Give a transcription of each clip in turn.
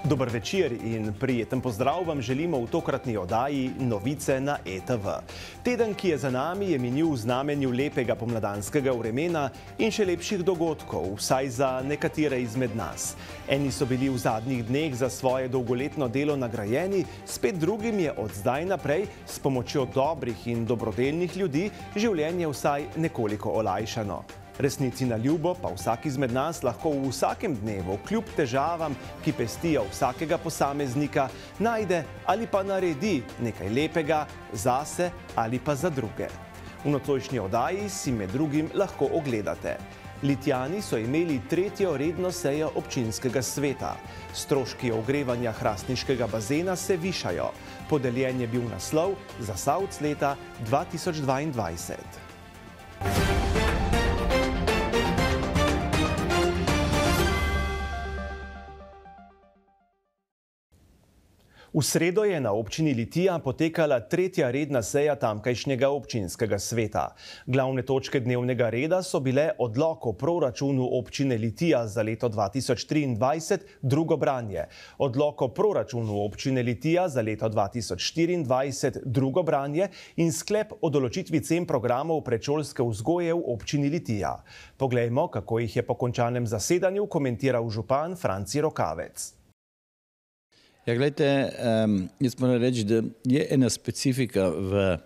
Dober večer in prijeten pozdrav vam želimo v tokratni oddaji Novice na ETV. Teden, ki je za nami, je minil v znamenju lepega pomladanskega vremena in še lepših dogodkov, vsaj za nekatere izmed nas. Eni so bili v zadnjih dneh za svoje dolgoletno delo nagrajeni, spet drugim je od zdaj naprej s pomočjo dobrih in dobrodelnih ljudi življenje vsaj nekoliko olajšano. Resnici na ljubo pa vsak izmed nas lahko v vsakem dnevu, kljub težavam, ki pestijo vsakega posameznika, najde ali pa naredi nekaj lepega zase ali pa za druge. V nocojšnji oddaji si med drugim lahko ogledate. Litijani so imeli tretjo redno sejo občinskega sveta. Stroški ogrevanja hrastniškega bazena se višajo. Podeljen je bil naslov Zasavc leta 2022. V sredo je na občini Litija potekala tretja redna seja tamkajšnjega občinskega sveta. Glavne točke dnevnega reda so bile odlok o proračunu občine Litija za leto 2023, drugo branje, odlok o proračunu občine Litija za leto 2024, drugo branje in sklep o določitvi cen programov predšolske vzgoje v občini Litija. Poglejmo, kako jih je po končanem zasedanju komentiral župan Franci Rokavec. Ja, gledajte, jaz moram reči, da je ena specifika v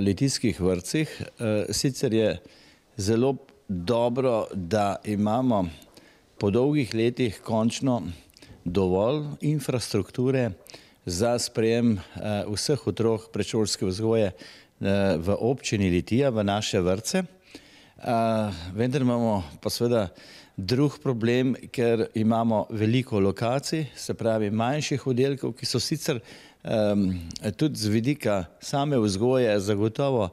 litijskih vrtcih. Sicer je zelo dobro, da imamo po dolgih letih končno dovolj infrastrukture za sprejem vseh otrok predšolske vzgoje v občini Litija, v naše vrtce. Vendar imamo pa seveda drug problem, ker imamo veliko lokacij, se pravi manjših oddelkov, ki so sicer tudi z vidika same vzgoje zagotovo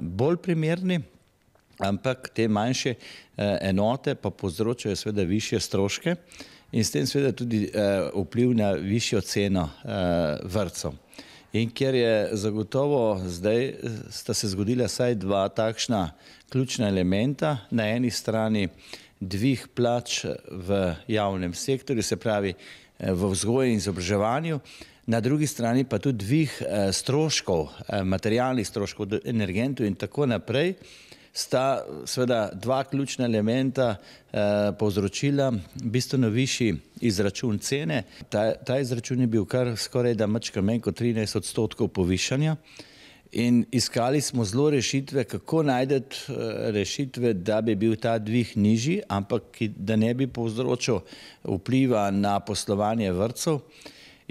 bolj primerni, ampak te manjše enote pa povzročajo seveda višje stroške in s tem seveda tudi vpliv na višjo ceno vrtcev. In ker je zagotovo zdaj sta se zgodila vsaj dva takšna ključna elementa, na eni strani dvig plač v javnem sektorju, se pravi v vzgoji in izobraževanju, na drugi strani pa tudi dvig stroškov, materialnih stroškov, energentov in tako naprej, sta seveda dva ključna elementa povzročila bistveno višji izračun cene. Ta izračun je bil kar skoraj da mačka manj kot 13% povišanja. In iskali smo zelo rešitve, kako najti rešitve, da bi bil ta dvig nižji, ampak da ne bi povzročil vpliva na poslovanje vrtcev.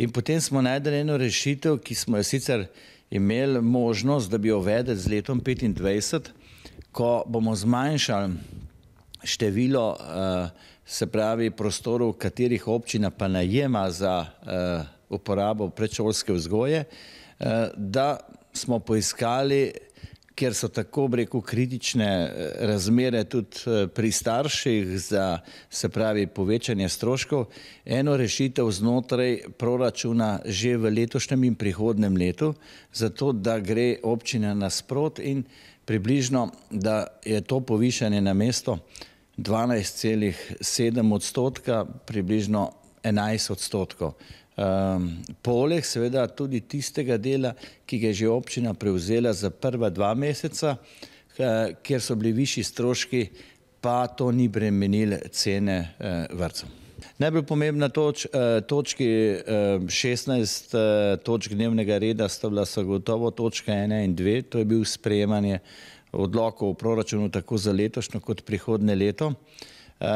In potem smo našli eno rešitev, ki smo jo sicer imeli možnost, da bi jo uvedli z letom 2025, ko bomo zmanjšali število, se pravi prostorov, katerih občina pa najema za uporabo predšolske vzgoje, da smo poiskali, ker so tako kritične razmere tudi pri starših za, se pravi, povečanje stroškov, eno rešitev znotraj proračuna že v letošnjem in prihodnjem letu, zato da gre občina nasprot in približno, da je to povišanje na mesto 12,7%, približno 11%. Poleg seveda tudi tistega dela, ki ga je že občina prevzela za prva 2 meseca, kjer so bili višji stroški, pa to ni bremenilo cene vrtcev. Najbolj pomembna točki 16 točk dnevnega reda sta bila zagotovo točka 1 in 2, to je bil sprejemanje odlokov v proračunu tako za letošnjo kot prihodnje leto.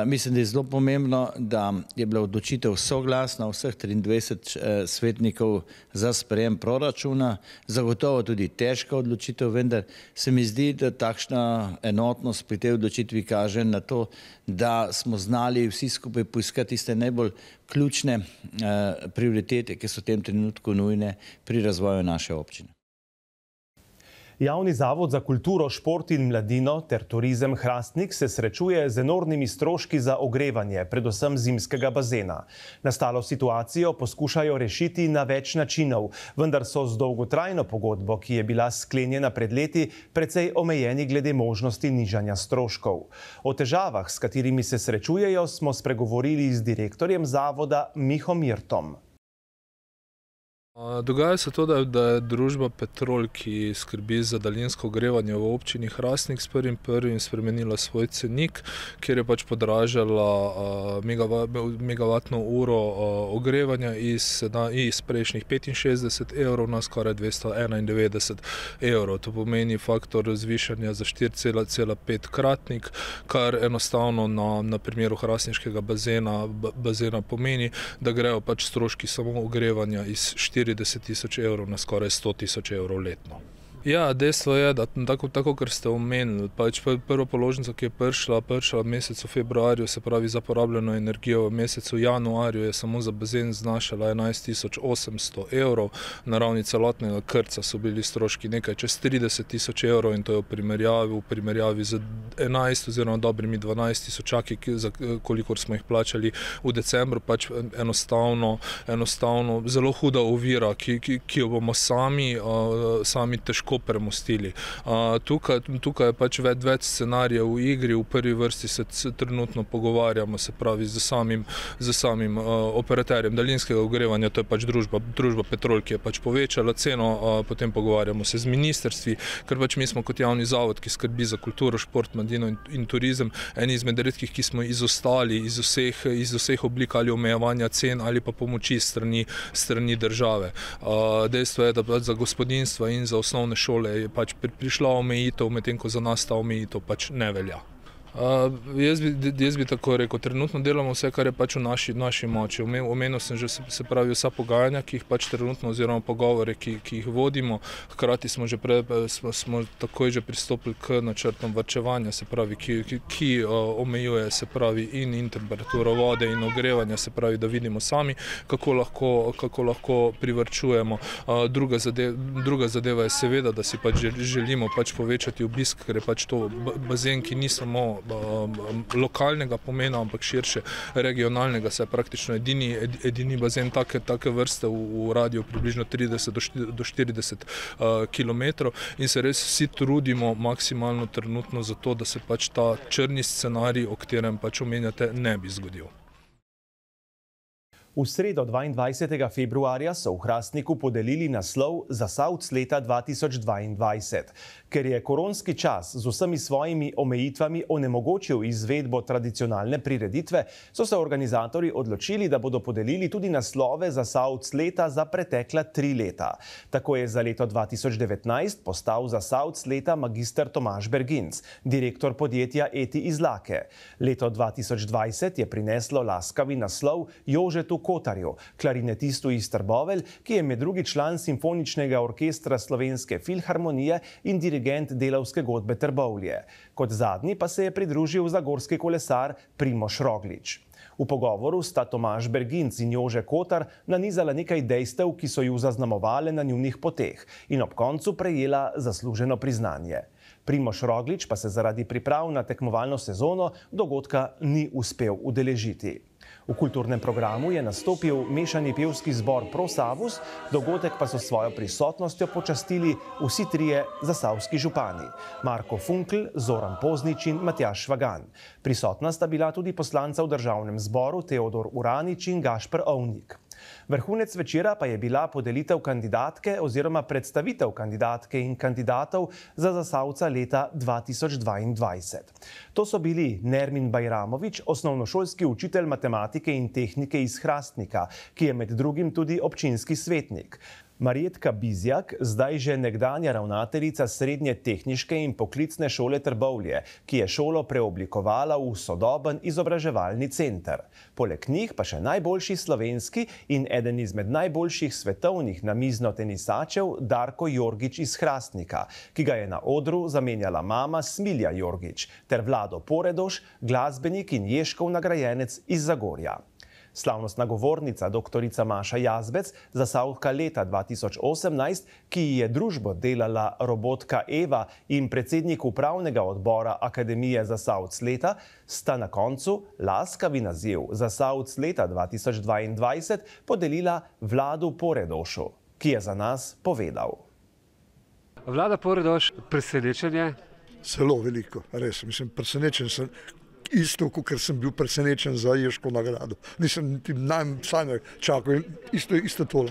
Mislim, da je zelo pomembno, da je bila odločitev soglasna vseh 23 svetnikov za sprejem proračuna. Zagotovo tudi težka odločitev, vendar se mi zdi, da takšna enotnost pri tej odločitvi kaže na to, da smo znali vsi skupaj poiskati tiste najbolj ključne prioritete, ki so v tem trenutku nujne pri razvoju naše občine. Javni zavod za kulturo, šport in mladino ter turizem Hrastnik se srečuje z enormnimi stroški za ogrevanje, predvsem zimskega bazena. Nastalo situacijo poskušajo rešiti na več načinov, vendar so z dolgotrajno pogodbo, ki je bila sklenjena pred leti, precej omejeni glede možnosti nižanja stroškov. O težavah, s katerimi se srečujejo, smo spregovorili z direktorjem zavoda Miho Mirtom. Dogaja se to, da je družba Petrol, ki skrbi za daljinsko ogrevanje v občini Hrastnik, s 1.1. spremenila svoj cenik, kjer je pač podražala megavatno uro ogrevanja iz prejšnjih 65 evrov na skoraj 291 evrov. To pomeni faktor zvišanja za 4,5 kratnik, kar enostavno na primeru hrastniškega bazena pomeni, da grejo pač stroški samo ogrevanja iz 40 tisoč evrov na skoraj 100 tisoč evrov letno. Ja, dejstvo je, da tako kar ste omenili, pač prva položnica, ki je prišla v mesecu februarju, se pravi za porabljeno energijo, v mesecu januarju je samo za bazen znašala 11.800 evrov, na ravni celotnega krca so bili stroški nekaj čez 30 tisoč evrov in to je v primerjavi z 11 oziroma dobrimi 12 tisočaki, za kolikor smo jih plačali v decembru, pač enostavno zelo huda ovira, ki jo bomo sami težko premostili. Tukaj je pač več scenarijev v igri, v prvi vrsti se trenutno pogovarjamo, se pravi z samim operaterjem daljinskega ogrevanja, to je pač družba Petrol, ki je pač povečala ceno, potem pogovarjamo se z ministrstvi, ker pač mi smo kot javni zavod, ki skrbi za kulturo, šport, mladino in turizem, eni izmed redkih, ki smo izostali iz vseh oblik ali omejevanja cen ali pa pomoči strani države. Dejstvo je, da pač za gospodinjstva in za osnovne šole je pač prišla omejitev, medtem ko za nas ta omejitev pač ne velja. Jaz bi tako rekel, trenutno delamo vse, kar je pač v naši moči. Omenil sem že, se pravi, vsa pogajanja, ki jih pač trenutno oziroma pogovore, ki jih vodimo. Hkrati smo takoj že pristopili k načrtom varčevanja, se pravi, ki omejuje, se pravi, in temperaturo vode in ogrevanja, se pravi, da vidimo sami, kako lahko privarčujemo. Druga zadeva je seveda, da si pač želimo pač povečati obisk, ker je pač to bazen, ki ni samo lokalnega pomena, ampak širše regionalnega, se je praktično edini bazen take vrste v radiju približno 30 do 40 kilometrov in se res vsi trudimo maksimalno trenutno za to, da se pač ta črni scenarij, o katerem pač omenjate, ne bi zgodil. V sredo 22. februarja so v Hrastniku podelili naslov Zasavc leta 2022. Ker je koronski čas z vsemi svojimi omejitvami onemogočil izvedbo tradicionalne prireditve, so se organizatorji odločili, da bodo podelili tudi naslove Zasavc leta za pretekla 3 leta. Tako je za leto 2019 postal Zasavc leta magister Tomaž Berginc, direktor podjetja Eti Izlake. Leto 2020 je prineslo laskavi naslov Jožetu Kotarju, klarinetistu iz Trbovelj, ki je med drugi član Simfoničnega orkestra Slovenske filharmonije in dirigent Delavske godbe Trbovlje. Kot zadnji pa se je pridružil zagorski kolesar Primož Roglič. V pogovoru sta Tomaž Berginc in Jože Kotar nanizala nekaj dejstev, ki so ju zaznamovale na njunih poteh in ob koncu prejela zasluženo priznanje. Primož Roglič pa se zaradi priprav na tekmovalno sezono dogodka ni uspel udeležiti. V kulturnem programu je nastopil mešani pevski zbor Prosavus, dogodek pa so svojo prisotnostjo počastili vsi trije zasavski župani: Marko Funkl, Zoran Poznič in Matjaž Švagan. Prisotna sta bila tudi poslanca v državnem zboru Teodor Uranič in Gašper Ovnik. Vrhunec večera pa je bila podelitev kandidatke oziroma predstavitev kandidatke in kandidatov za Zasavca leta 2022. To so bili Nermin Bajramovič, osnovnošolski učitelj matematike in tehnike iz Hrastnika, ki je med drugim tudi občinski svetnik. Marjetka Bizjak, zdaj že nekdanja ravnateljica Srednje tehniške in poklicne šole Trbovlje, ki je šolo preoblikovala v sodoben izobraževalni center. Poleg njih pa še najboljši slovenski in eden izmed najboljših svetovnih namiznotenisačev Darko Jorgič iz Hrastnika, ki ga je na odru zamenjala mama Smilja Jorgič, ter Vlado Poredoš, glasbenik in Ježkov nagrajenec iz Zagorja. Slavnostna govornica dr. Maša Jazbec, zasavka leta 2018, ki ji je družbo delala robotka Eva in predsednik upravnega odbora Akademije Zasavc leta, sta na koncu laskavi naziv Zasavc leta 2022 podelila Vladu Poredošu, ki je za nas povedal. Vlada Poredoš, presenečenje? Zelo veliko, res. Mislim, presenečen sem isto, kot sem bil presenečen za Ježko nagrado. Nisem niti najmanj čakal in isto tole.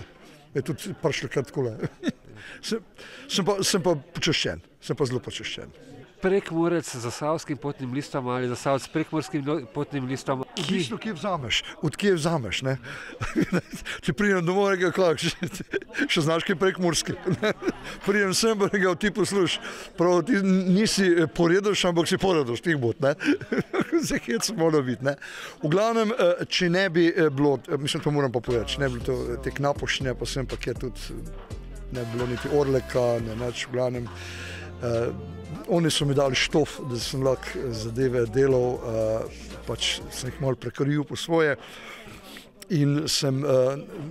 Je tudi prišlo kar takole. Sem pa počaščen, sem pa zelo počaščen. Prekmurec z zasavskim potnim listom ali Zasavc s prekmurskim potnim listom? Odvisno, kje vzameš, od kje vzameš, ne. Če pridem domov, nekaj še znaš kaj prekmurski. Pridem sem, pa nekaj ti posluš. Prav, ti nisi Poredoš, ampak si Poredoš, tih bod, ne. Zdaj hec mora biti, ne. V glavnem, če ne bi bilo, mislim, to moram pa povedati, če ne bi bilo te knapošne, pa sem pa kje tudi ne bilo niti Orleka, ne nič, v glavnem. Oni so mi dali štof, da sem lahko zadeve delal, pač sem jih malo prekril po svoje in sem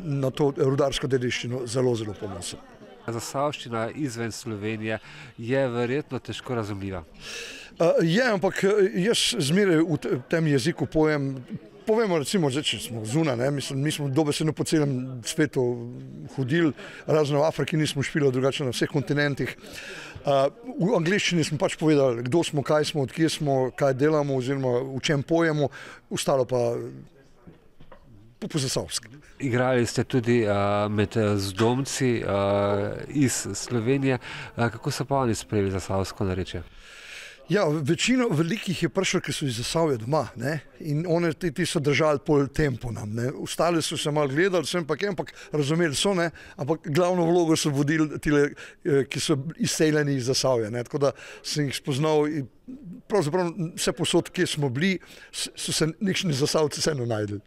na to rudarsko dediščino zelo, zelo ponosen. Zasavščina izven Slovenije je verjetno težko razumljiva. Je, ampak jaz zmeraj v tem jeziku povemo recimo, če smo zunaj, ne, mi smo dobesedno po celem svetu hodili, razno v Afriki nismo špili, drugače na vseh kontinentih. V angleščini smo pač povedali, kdo smo, kaj smo, odkje smo, kaj delamo oziroma v čem pojemo, ostalo pa po zasavski. Igrali ste tudi med zdomci iz Slovenije. Kako so pa oni sprejeli zasavsko narečje? Ja, večino velikih je prišlo, ki so iz Zasavja doma, ne, in oni ti so držali pol tempo nam, ne. Ostali so se malo gledali, sem pa ampak razumeli so, ne, ampak glavno vlogo so vodili tile, ki so izseljeni iz Zasavja, ne, tako da sem jih spoznal in pravzaprav vse posod, kje smo bili, so se nekšni Zasavci vseeno najdeli.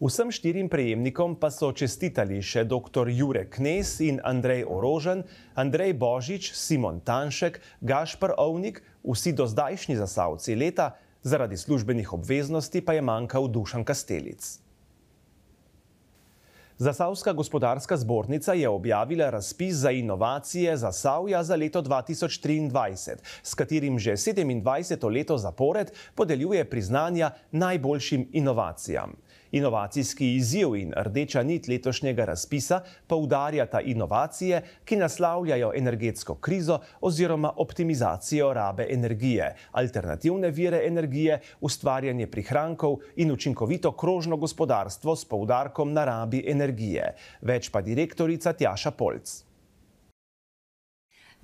Vsem 4 prejemnikom pa so čestitali še dr. Jure Knez in Andrej Orožen, Andrej Božič, Simon Tanšek, Gašper Ovnik, vsi dozdajšnji Zasavci leta, zaradi službenih obveznosti pa je manjkal Dušan Kastelic. Zasavska gospodarska zbornica je objavila razpis za inovacije Zasavja za leto 2023, s katerim že 27. leto zapored podeljuje priznanja najboljšim inovacijam. Inovacijski izziv in rdeča nit letošnjega razpisa poudarjata inovacije, ki naslavljajo energetsko krizo oziroma optimizacijo rabe energije, alternativne vire energije, ustvarjanje prihrankov in učinkovito krožno gospodarstvo s poudarkom na rabi energije. Več pa direktorica Tjaša Polc.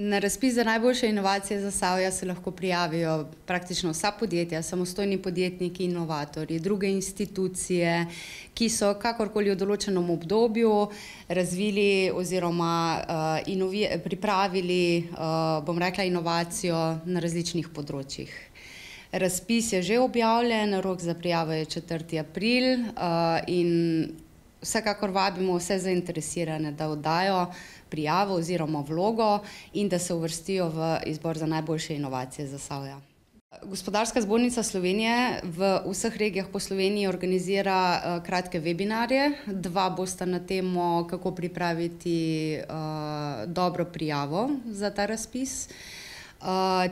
Na razpis za najboljše inovacije Zasavja se lahko prijavijo praktično vsa podjetja, samostojni podjetniki, inovatorji, druge institucije, ki so kakorkoli v določenem obdobju razvili oziroma pripravili, bom rekla, inovacijo na različnih področjih. Razpis je že objavljen, rok za prijavo je 4. april in vsekakor vabimo vse zainteresirane, da oddajo prijavo oziroma vlogo in da se uvrstijo v izbor za najboljše inovacije Zasavja. Gospodarska zbornica Slovenije v vseh regijah po Sloveniji organizira kratke webinarje. 2 bosta na temo, kako pripraviti dobro prijavo za ta razpis.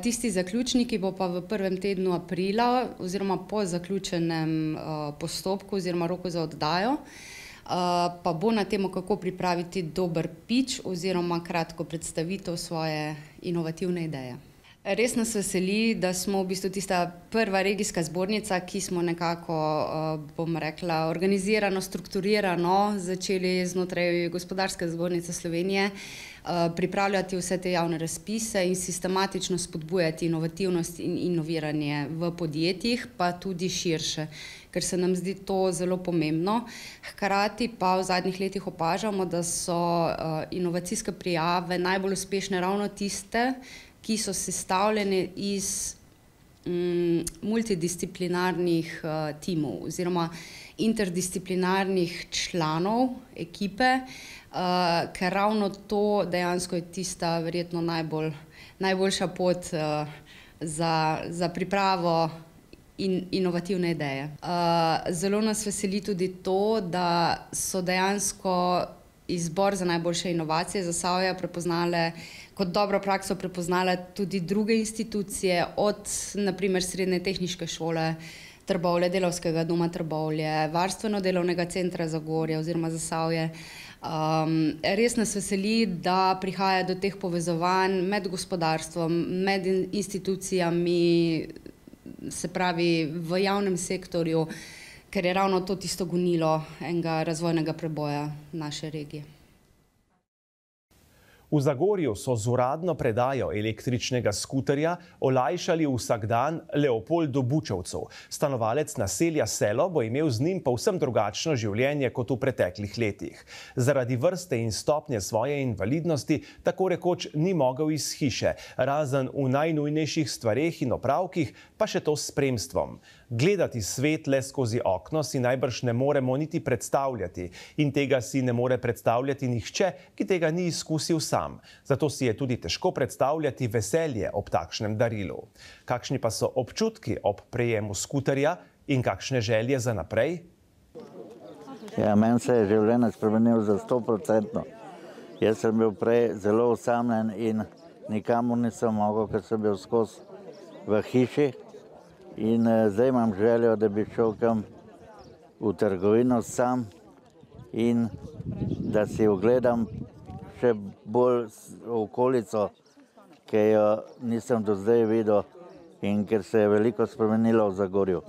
Tisti zaključni, ki bo pa v prvem tednu aprila oziroma po zaključenem postopku oziroma roku za oddajo, pa bo na temo, kako pripraviti dober pitch oziroma kratko predstavitev svoje inovativne ideje. Res nas veseli, da smo v bistvu tista prva regijska zbornica, ki smo nekako, bom rekla, organizirano, strukturirano začeli znotraj Gospodarske zbornice Slovenije pripravljati vse te javne razpise in sistematično spodbujati inovativnost in inoviranje v podjetjih, pa tudi širše, ker se nam zdi to zelo pomembno. Hkrati pa v zadnjih letih opažamo, da so inovacijske prijave najbolj uspešne ravno tiste, ki so sestavljene iz multidisciplinarnih timov oziroma interdisciplinarnih članov ekipe, ker ravno to dejansko je tista verjetno najboljša pot za pripravo inovativne ideje. Zelo nas veseli tudi to, da so dejansko izbor za najboljše inovacije Zasavja prepoznale, kot dobro prakso prepoznale tudi druge institucije, od naprimer Srednje tehniške šole Trbovlje, Delavskega doma Trbovlje, Varstveno-delovnega centra Zagorje oziroma Zasavje. Res nas veseli, da prihaja do teh povezovanj med gospodarstvom, med institucijami, se pravi v javnem sektorju, ker je ravno to tisto gonilo enega razvojnega preboja naše regije. V Zagorju so z uradno predajo električnega skuterja olajšali vsakdan Leopoldu Bučevcu. Stanovalec naselja Selo bo imel z njim povsem drugačno življenje kot v preteklih letih. Zaradi vrste in stopnje svoje invalidnosti tako rekoč ni mogel iz hiše, razen v najnujnejših stvareh in opravkih, pa še to s spremstvom. Gledati svet le skozi okno si najbrž ne moremo niti predstavljati in tega si ne more predstavljati nihče, ki tega ni izkusil sam. Zato si je tudi težko predstavljati veselje ob takšnem darilu. Kakšni pa so občutki ob prejemu skuterja in kakšne želje za naprej? Ja, meni se je življenje spremenilo za 100%. Jaz sem bil prej zelo osamljen in nikamor nisem mogel, ker sem bil skozi v hiši. In zdaj imam željo, da bi šel kam v trgovino sam in da si ogledam še bolj okolico, ki jo nisem do zdaj videl in ker se je veliko spremenilo v Zagorju.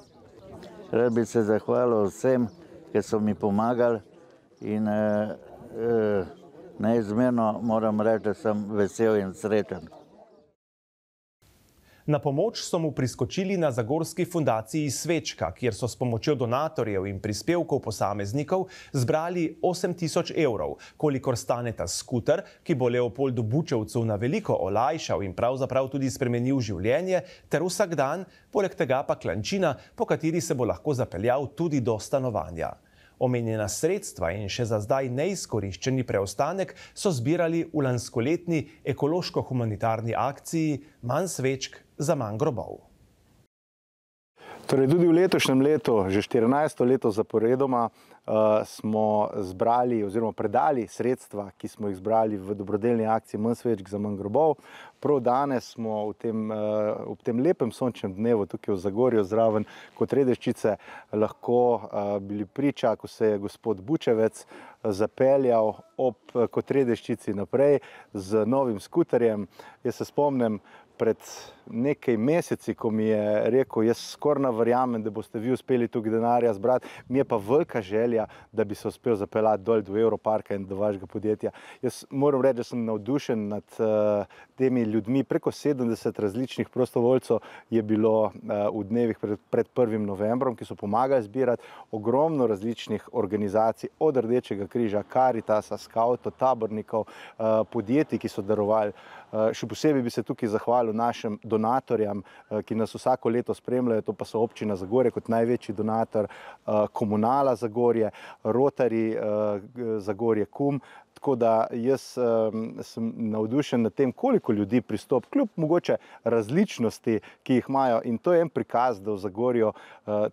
Rad bi se zahvalil vsem, ki so mi pomagali in neizmerno moram reči, da sem vesel in srečen. Na pomoč so mu priskočili na Zagorski fundaciji Svečka, kjer so s pomočjo donatorjev in prispevkov posameznikov zbrali 8 000 evrov, kolikor stane ta skuter, ki bo Leopoldu Bučevcu na veliko olajšal in pravzaprav tudi spremenil življenje, ter vsak dan, poleg tega pa klančina, po kateri se bo lahko zapeljal tudi do stanovanja. Omenjena sredstva in še za zdaj neizkoriščeni preostanek so zbirali v lanskoletni ekološko-humanitarni akciji Manj svečk za manj grobov. Torej, tudi v letošnjem letu, že 14. leto zaporedoma, smo zbrali oziroma predali sredstva, ki smo jih zbrali v dobrodelni akciji Manj svečk za manj grobov. Prav danes smo ob tem lepem sončnem dnevu tukaj v Zagorju zraven Kotredeščice lahko bili priča, ko se je gospod Bučevec zapeljal ob Kotredeščici naprej z novim skuterjem. Jaz se spomnim, pred nekaj meseci, ko mi je rekel, jaz skoraj ne verjamem, da boste vi uspeli tukaj denarja zbrati, mi je pa velika želja, da bi se uspel zapeljati dol do Europarka in do vašega podjetja. Jaz moram reči, da sem navdušen nad temi ljudmi. Preko 70 različnih prostovoljcev je bilo v dnevih pred 1. novembrom, ki so pomagali zbirati, ogromno različnih organizacij, od Rdečega križa, Karitasa, Skavtov, tabornikov, podjetij, ki so darovali. Še posebej bi se tukaj zahvalil našim donatorjem, ki nas vsako leto spremljajo, to pa so občina Zagorje kot največji donator, Komunala Zagorje, Rotary Zagorje KUM. Tako da jaz sem navdušen nad tem, koliko ljudi pristop, kljub mogoče različnosti, ki jih imajo. In to je en prikaz, da v Zagorju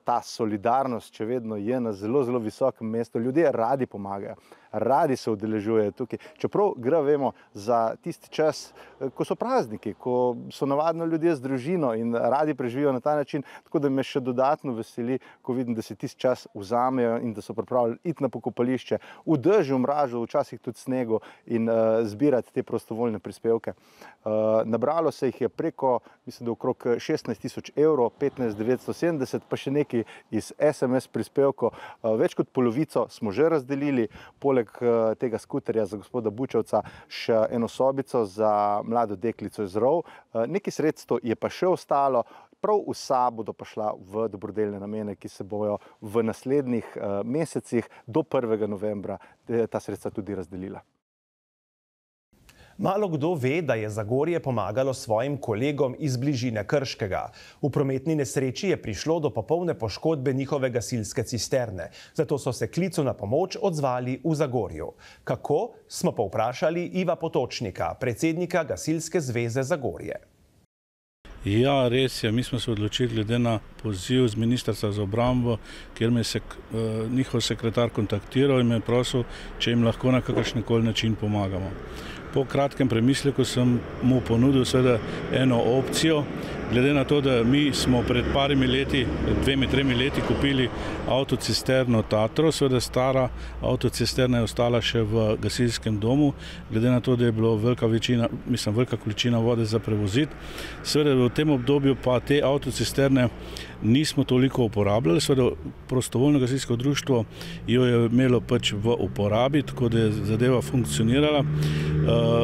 ta solidarnost še vedno je na zelo, zelo visokem mestu. Ljudje radi pomagajo, radi se udeležujejo tukaj. Čeprav gre, vemo, za tisti čas, ko so prazniki, ko so navadno ljudje z družino in radi preživijo na ta način. Tako da me še dodatno veseli, ko vidim, da si tisti čas vzamejo in da so pripravljeni iti na pokopališče, v dežju, mrazu, včasih tudi snegu in zbirati te prostovoljne prispevke. Nabralo se jih je preko, mislim, da okrog 16 000 evrov, 15 970, pa še nekaj iz SMS prispevkov. Več kot polovico smo že razdelili, poleg tega skuterja za gospoda Bučevca še eno sobico za mlado deklico iz Rov. Nekaj sredstev je pa še ostalo, prav vsa bodo pa šla v dobrodelne namene, ki se bojo v naslednjih mesecih do 1. novembra ta sredstva tudi razdelila. Malo kdo ve, da je Zagorje pomagalo svojim kolegom iz bližine Krškega. V prometni nesreči je prišlo do popolne poškodbe njihove gasilske cisterne. Zato so se klicu na pomoč odzvali v Zagorju. Kako, smo pa vprašali Iva Potočnika, predsednika Gasilske zveze Zagorje. Ja, res je. Mi smo se odločili glede na poziv z Ministrstva za obrambo, kjer me je njihov sekretar kontaktiral in me prosil, če jim lahko na kakršenkoli način pomagamo. Po kratkem premisleku sem mu ponudil seveda eno opcijo, glede na to, da mi smo pred parimi leti, 2-3 leti kupili avtocisterno Tatro, seveda stara avtocisterna je ostala še v gasilskem domu, glede na to, da je bilo velika količina vode za prevoziti. Seveda v tem obdobju pa te avtocisterne nismo toliko uporabljali, seveda prostovoljno gasilsko društvo jo je imelo pač v uporabi, tako da je zadeva funkcionirala.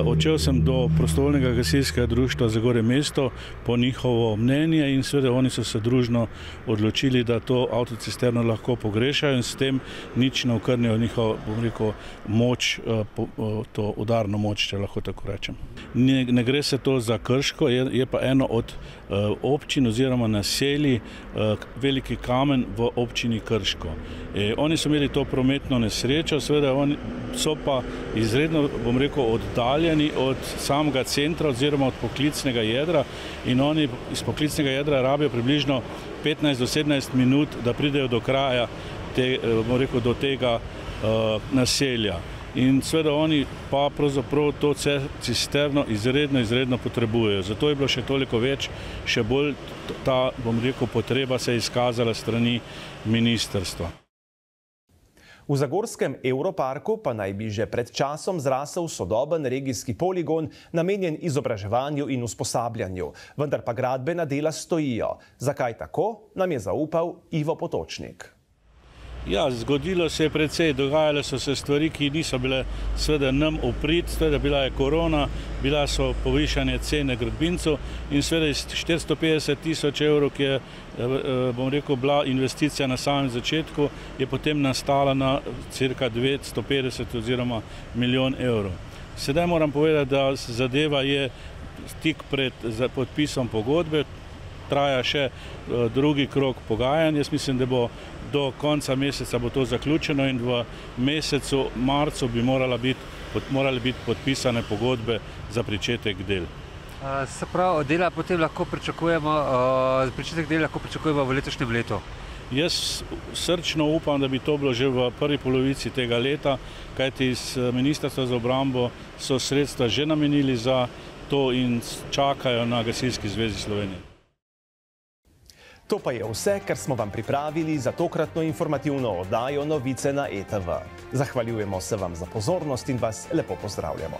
Odšel sem do prostovoljnega gasilskega društva Zagorje mesto po njihovo mnenje in seveda oni so se družno odločili, da to avtocisterno lahko pogrešajo in s tem nič ne okrnijo njihovo, bom rekel, moč, to udarno moč, če lahko tako rečem. Ne gre se to za Krško, je pa eno od občin oziroma naselij Veliki Kamen v občini Krško. Oni so imeli to prometno nesrečo, seveda oni so pa izredno, bom rekel, oddaljeni od samega centra oziroma od poklicnega jedra in oni iz poklicnega jedra rabijo približno 15 do 17 minut, da pridejo do kraja, bom rekel, do tega naselja. In seveda oni pa pravzaprav to cisterno izredno potrebujejo. Zato je bilo še toliko več, še bolj ta, bom rekel, potreba se je izkazala strani ministrstva. V zagorskem Evroparku pa naj bi že pred časom zrasel sodoben regijski poligon, namenjen izobraževanju in usposabljanju, vendar pa gradbena dela stojijo. Zakaj tako, nam je zaupal Ivo Potočnik. Ja, zgodilo se je precej, dogajale so se stvari, ki niso bile seveda nam v prid, seveda bila je korona, bila so povišanje cene gradbincev in seveda iz 450 000 evrov, ki je, bom rekel, bila investicija na samem začetku, je potem nastala na cirka 250 oziroma milijon evrov. Sedaj moram povedati, da zadeva je tik pred podpisom pogodbe, traja še drugi krog pogajanj. Jaz mislim, da bo do konca meseca bo to zaključeno in v mesecu marcu bi morale biti podpisane pogodbe za pričetek del. Se pravi, dela potem lahko pričakujemo, pričetek dela lahko pričakujemo v letošnjem letu? Jaz srčno upam, da bi to bilo že v prvi polovici tega leta, kajti iz Ministrstva za obrambo so sredstva že namenili za to in čakajo na Gasilski zvezi Slovenije. To pa je vse, kar smo vam pripravili za tokratno informativno oddajo Novice na ETV. Zahvaljujemo se vam za pozornost in vas lepo pozdravljamo.